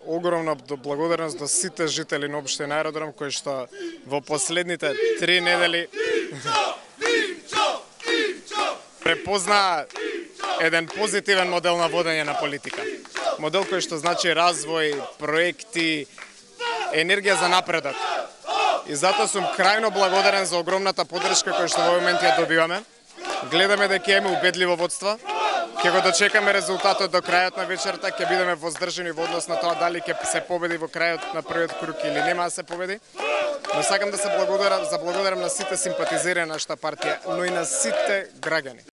огромна благодарност до сите жители на општина Аеродром кои што во последните 3 недели препознаа еден позитивен модел на водење на политика. Модел кој што значи развој, проекти, енергија за напредок. И затоа сум крајно благодарен за огромната поддршка која што во момент ја добиваме. Гледаме дека имаме убедливо водство. Ќе го дочекаме резултатот до крајот на вечерта, ќе бидеме воздржани во однос на тоа дали ќе се победи во крајот на првиот круг или нема да се победи. Но сакам да се благодарам на сите симпатизери на нашата партија, но и на сите граѓани.